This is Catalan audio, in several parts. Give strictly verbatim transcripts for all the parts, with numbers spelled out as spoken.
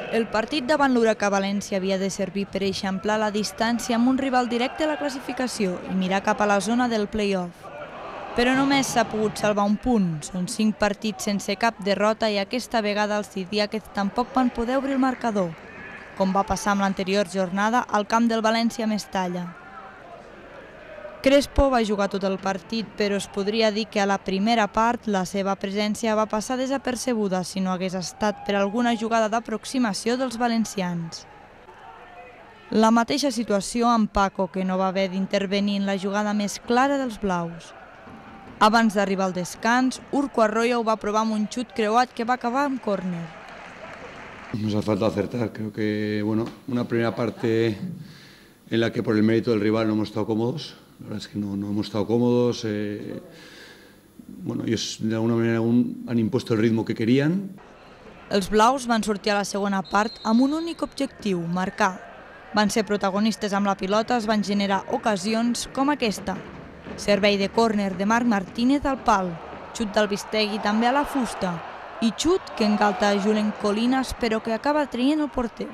El partit davant l'Huracà València havia de servir per eixamplar la distància amb un rival directe a la classificació i mirar cap a la zona del play-off. Però només s'ha pogut salvar un punt. Són cinc partits sense cap derrota i aquesta vegada els Sidiàquez tampoc van poder obrir el marcador, com va passar amb l'anterior jornada al camp del València Mestalla. Crespo va jugar tot el partit, però es podria dir que a la primera part la seva presència va passar desapercebuda si no hagués estat per alguna jugada d'aproximació dels valencians. La mateixa situació amb Paco, que no va haver d'intervenir en la jugada més clara dels blaus. Abans d'arribar al descans, Urco Arroyo va provar amb un xut creuat que va acabar amb córner. Nos ha faltado acertar, creo que bueno, una primera parte en la que por el mérito del rival no hemos estado cómodos. La verdad es que no, no hemos estado cómodos. Eh, bueno, ellos de alguna manera un, han impuesto el ritmo que querían. Els blaus van sortir a la segona part amb un únic objectiu, marcar. Van ser protagonistes amb la pilota, es van generar ocasions com aquesta. Servei de córner de Marc Martínez al pal, xut del Bistegui també a la fusta i xut que engalta Julen Colinas però que acaba traient el porter.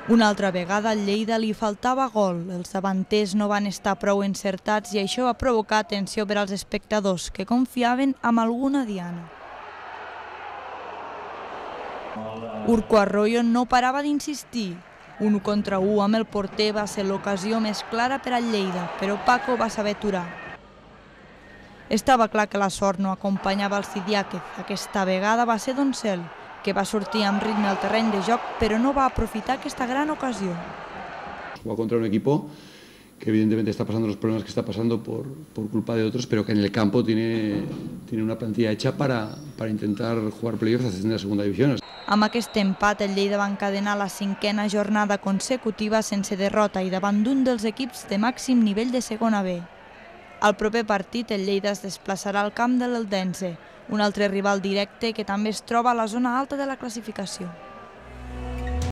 Una altra vegada al Lleida li faltava gol, els davanters no van estar prou encertats i això va provocar tensió per als espectadors que confiaven amb alguna diana. Urco Arroyo no parava d'insistir. Un contra u amb el porter va ser l'ocasió més clara per al Lleida, però Paco va saber aturar. Estava clar que la sort no acompanyava el Sidiàquez. Aquesta vegada va ser Doncel, que va sortir amb ritme al terreny de joc, però no va aprofitar aquesta gran ocasió. Juega contra un equipo que evidentemente está pasando los problemas que está pasando por, por culpa de otros, pero que en el campo tiene, tiene una plantilla hecha para, para intentar jugar playoffs ascender a segunda división. Amb aquest empat, el Lleida va encadenar la cinquena jornada consecutiva sense derrota i davant d'un dels equips de màxim nivell de segona B. Al proper partit, el Lleida es desplaçarà al camp de l'Eldense, un altre rival directe que també es troba a la zona alta de la classificació.